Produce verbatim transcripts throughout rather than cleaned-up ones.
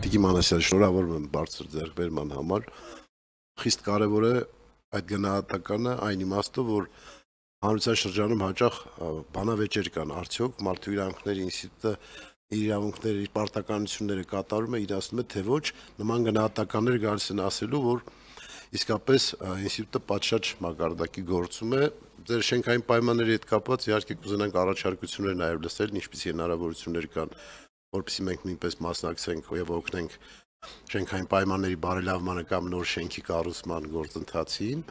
Տիկին Մանասյան, շնորհավորում եմ բարձր ձեռքբերման համար։ Խիստ կարևոր է այդ գնահատականը այն իմաստով, որ հանրության շրջանում հաճախ բանավեճեր կան, արդյոք Մարդու իրավունքների ինստիտուտը իր իրավունքների, իր պարտականությունները կատարում է, իր ասում է, թե ոչ, նման գնահատականներ գալիս են ասելու, որ իսկապես ինստիտուտը պատշաճ մակարդակի գործում է։ Ձեր շենքային պայմանների հետ կապված իհարկե կուզենանք առաջարկություններ նաև լսել, ինչպիսի հնարավորություններ կան, որպեսզի մենք նույնպես մասնակցենք եւ օգնենք շենքային պայմանների բարելավմանը կամ նոր շենքի կառուցման գործընթացին։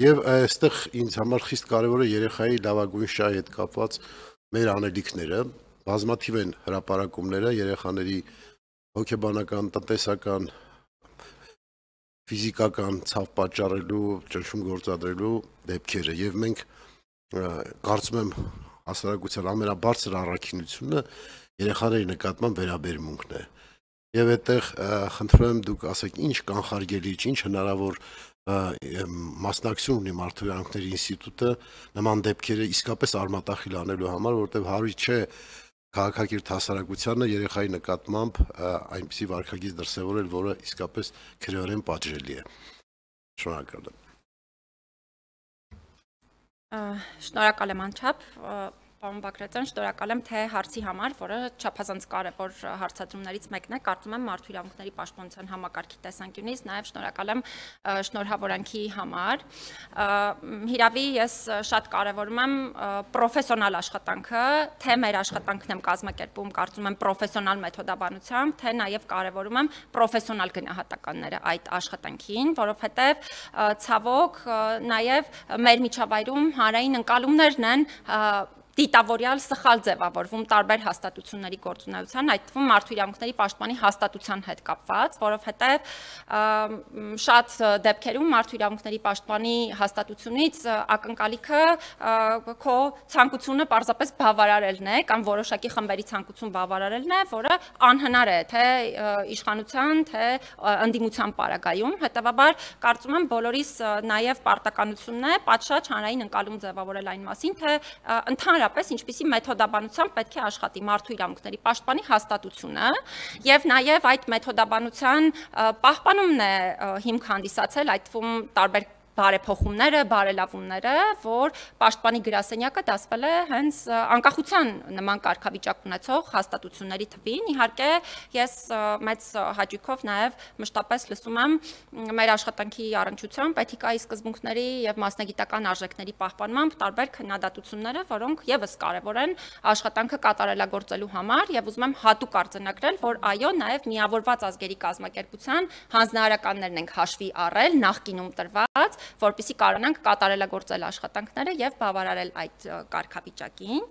Եվ այստեղ ինձ համար խիստ կարևոր է երեխայի լավագույն շահի հետ կապված մեր անելիքները, բազմաթիվ են հրապարակումները երեխաների հոգեբանական, տնտեսական, ֆիզիկական ցավ պատճառելու, ճնշում գործադրելու դեպքերը եւ մենք կարծում եմ հասարակության ամենաբարձր առաքինությունը երեխաների նկատմամբ վերաբերմունքն է։ Եվ այդտեղ խնդրում եմ դուք ասեք ինչ կանխարգելիչ, ինչ հնարավոր մասնակցություն ունի Մարդու իրավունքների ինստիտուտը նման դեպքերը իսկապես արմատախիլ անելու համար, որտեղ հարույց չէ քաղաքակիրթ հասարակությանը երեխայի նկատմամբ այնպիսի վարքագիծ դրսևորել, որը իսկապես քրեորեն պատժելի է։ Շնորհակալ եմ։ Շնորհակալ եմ անչափ, պարոն Բագրատյան, շնորհակալ եմ թե հարցի համար, որը չափազանց կարևոր հարցադրումներից մեկն է, կարծում եմ Մարդու իրավունքների պաշտպանության համակարգի տեսանկյունից, նաև շնորհակալ եմ շնորհավորանքի համար։ Հիրավի ես շատ կարևորում եմ պրոֆեսիոնալ աշխատանքը, թե մեր աշխատանքն եմ կազմակերպում, կարծում եմ պրոֆեսիոնալ մեթոդաբանությամբ, թե նաև կարևորում եմ պրոֆեսիոնալ գնահատականները այդ աշխատանքին, որովհետև ցավոք նաև մեր միջավայրում հանրային ընկալումներն են դիտավորյալ սխալ ձևավորվում տարբեր հաստատությունների գործունեության, այդ թվում Մարդու իրավունքների պաշտպանի հաստատության հետ կապված, որովհետև շատ դեպքերում Մարդու իրավունքների պաշտպանի հաստատությունից ակնկալիքը քո ցանկությունը պարզապես բավարարելն է կամ որոշակի խմբերի ցանկություն բավարարելն է, որը անհնար է թե իշխանության, թե ընդդիմության պարագայում, հետևաբար կարծում եմ բոլորիս նաև պարտականությունն է պատշաճ հանրային ընկալում ձևավորել այն մասին, թե ընդհանրապես ինչպիսի մեթոդաբանությամբ պետք է աշխատի Մարդու իրավունքների պաշտպանի հաստատությունը եւ նաեւ այդ մեթոդաբանության պահպանումն է հիմք հանդիսացել այդ թվում տարբեր բարեփոխումները, բարելավումները, որ պաշտպանի գրասենյակը դասվել է հենց անկախության նման կարգավիճակ ունեցող հաստատությունների թվին։ Իհարկե, ես մեծ հաճույքով նաև մշտապես լսում եմ մեր աշխատանքի առնչությամբ էթիկայի սկզբունքների եւ մասնագիտական արժեքների պահպանմամբ տարբեր քննադատությունները, որոնք եւս կարեւոր են աշխատանքը կատարելագործելու համար եւ ուզում եմ հատուկ արձանագրել, որ այո, նաև միավորված ազգերի կազմակերպության հանձնարարականներն ենք հաշվի առել նախկինում տրված, որպեսզի կարողանանք կատարելագործել աշխատանքները եւ բավարարել այդ կարգավիճակին։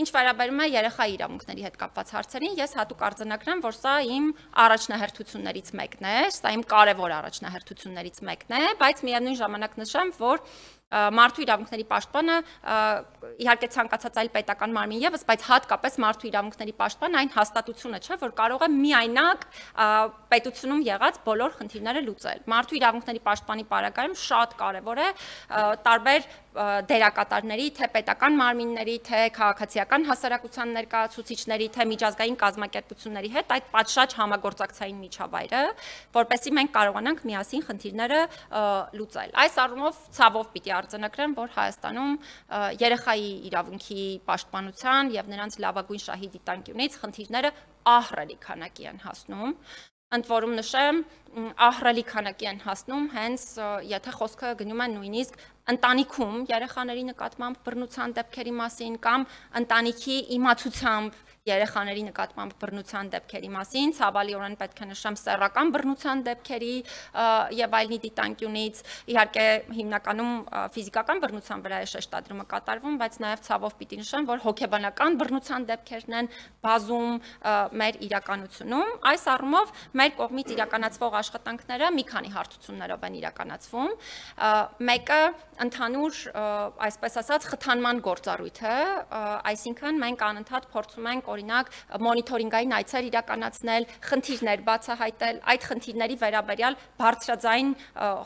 Ինչ վերաբերում է երեխայի իրավունքների հետ կապված հարցերին, ես հատուկ արձանագրեմ, որ սա իմ առաջնահերթություններից մեկն է, սա իմ կարևոր առաջնահերթություններից մեկն է, բայց միևնույն ժամանակ նշեմ, որ Մարդու իրավունքների պաշտպանը իհարկե ցանկացած այլ պետական մարմին եւս, բայց հատկապես Մարդու իրավունքների պաշտպան այն հաստատությունը չէ, որ կարող է միայնակ պետությունում եղած բոլոր խնդիրները լուծել։ Մարդու իրավունքների պաշտպանի պարագայում շատ կարեւոր է տարբեր դերակատարների, թե պետական մարմինների, թե քաղաքացիական հասարակության ներկայացուցիչների, թե միջազգային կազմակերպությունների հետ այդ պատշաճ համագործակցային միջավայրը, որպեսզի մենք կարողանանք միասին խնդիրները լուծել։ Այս առումով ցավով պիտի արձանագրեմ, որ Հայաստանում երեխայի իրավունքի պաշտպանության եւ նրանց լավագույն շահի դիտանկյունից խնդիրները ահռելի քանակի են հասնում։ Ընդ որում նշեմ, ահռելի քանակի են հասնում հենց եթե խոսքը գնում է նույնիսկ ընտանիքում երեխաների նկատմամբ բռնության դեպքերի մասին կամ ընտանիքի իմացությամբ երեխաների նկատմամբ բռնության դեպքերի մասին, ցավալիորեն պետք է նշեմ սեռական բռնության դեպքերի եւ այլնի դիտանկյունից, իհարկե հիմնականում ֆիզիկական բռնության վրա է շեշտադրումը կատարվում, բայց նաեւ ցավով պիտի նշեմ, որ հոգեբանական բռնության դեպքերն են բազում մեր իրականությունում։ Այս առումով մեր կողմից իրականացվող աշխատանքները մի քանի հարթություններով են իրականացվում։ Մեկը ընդհանուր, այսպես ասած, խթանման գործառույթ է, այսինքն մենք անընդհատ փորձում ենք օրինակ մոնիթորինգային այցեր իրականացնել, խնդիրներ բացահայտել, այդ խնդիրների վերաբերյալ բարձրաձայն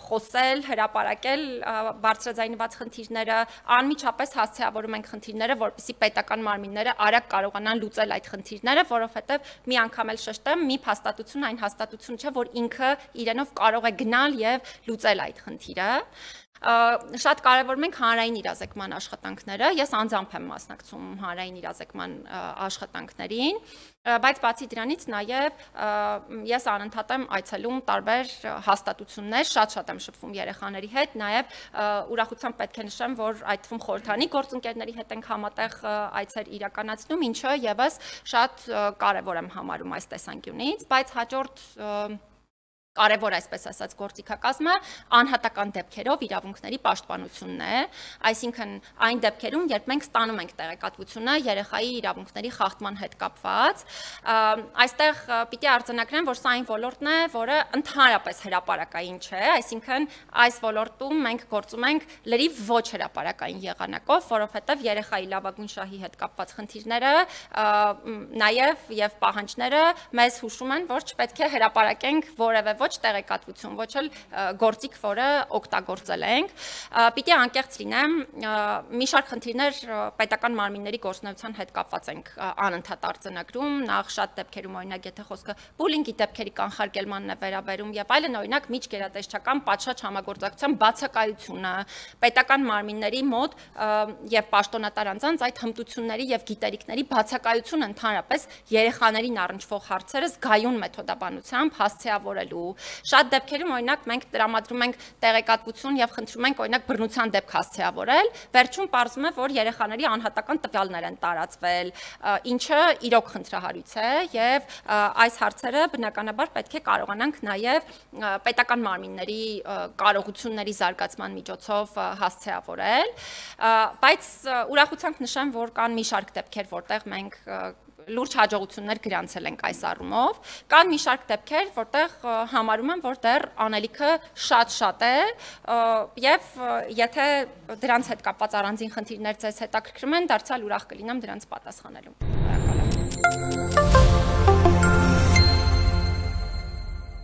խոսել, հրապարակել բարձրաձայնված խնդիրները, անմիջապես հասցեավորում ենք խնդիրները, որպեսզի պետական մարմինները արագ կարողանան լուծել այդ խնդիրները, որովհետև մի անգամ էլ շեշտեմ, մի փաստատություն այն հաստատություն չէ, որ ինքը իրենով կարող է գնալ եւ լուծել այդ խնդիրը։ Շատ կարևորում ենք հանրային իրազեկման աշխատանքները, ես անձամբ եմ մասնակցում հանրային իրազեկման աշխատանքներին, բայց բացի դրանից նաև ես անընդհատ եմ այցելում տարբեր հաստատություններ, շատ-շատ եմ շփվում երեխաների հետ, նաև ուրախությամբ պետք է նշեմ, որ այդ թվում խորհրդանի գործընկերների հետ ենք համատեղ այցեր իրականացնում, ինչը եւս շատ կարևոր եմ համարում այս տեսանկյունից, բայց հաջորդ կարևոր այսպես ասած գործիքակազմը անհատական դեպքերով իրավունքների պաշտպանությունն է, այսինքն այն դեպքերում, երբ մենք ստանում ենք տեղեկատվությունը երեխայի իրավունքների խախտման հետ կապված, այստեղ պիտի արձանագրեմ, որ սա այն ոլորտն է, որը ընդհանրապես հրապարակային չէ, այսինքն այս ոլորտում մենք գործում ենք լրիվ ոչ հրապարակային եղանակով, որովհետև երեխայի լավագույն շահի հետ կապված խնդիրները, նաև եւ պահանջները մեզ հուշում են, որ չպետք է հրապարակենք որևէ ոչ տեղեկատվություն, ոչ էլ գործիք, որը օգտագործել ենք։ Պիտի անկեղծ լինեմ, մի շարք խնդիրներ պետական մարմինների գործունեության հետ կապված ենք անընդհատ արձանագրում, նախ շատ դեպքերում օրինակ եթե խոսքը բուլինգի դեպքերի կանխարգելմանն է վերաբերում եւ այլն, օրինակ միջգերատեսչական պատշաճ համագործակցության բացակայությունը պետական մարմինների մոտ եւ պաշտոնատար անձանց այդ հմտությունների եւ գիտելիքների բացակայությունը ընդհանրապես երեխաներին առնչվող հարցերը զգայուն մեթոդաբանությամբ հասցեավորելու Շատ դեպքերում օրինակ մենք տրամադրում ենք տեղեկատվություն եւ խնդրում ենք օրինակ բռնության դեպք հասցեավորել, վերջում պարզվում է, որ երեխաների անհատական տվյալներ են տարածվել, ինչը իրոք խնդրահարույց է եւ այս հարցերը բնականաբար պետք է կարողանանք նաեւ պետական մարմինների կարողությունների զարգացման միջոցով հասցեավորել, բայց ուրախությամբ նշեմ, որ կան մի շարք դեպքեր, որտեղ մենք լուրջ հաջողություններ գրանցել ենք այս առումով, կան մի շարք դեպքեր, որտեղ համարում եմ, որ դեռ անելիքը շատ-շատ է եւ եթե դրանց հետ կապված առանձին խնդիրներ ձեզ հետաքրքրում են, դարձյալ ուրախ կլինեմ դրանց պատասխանելու։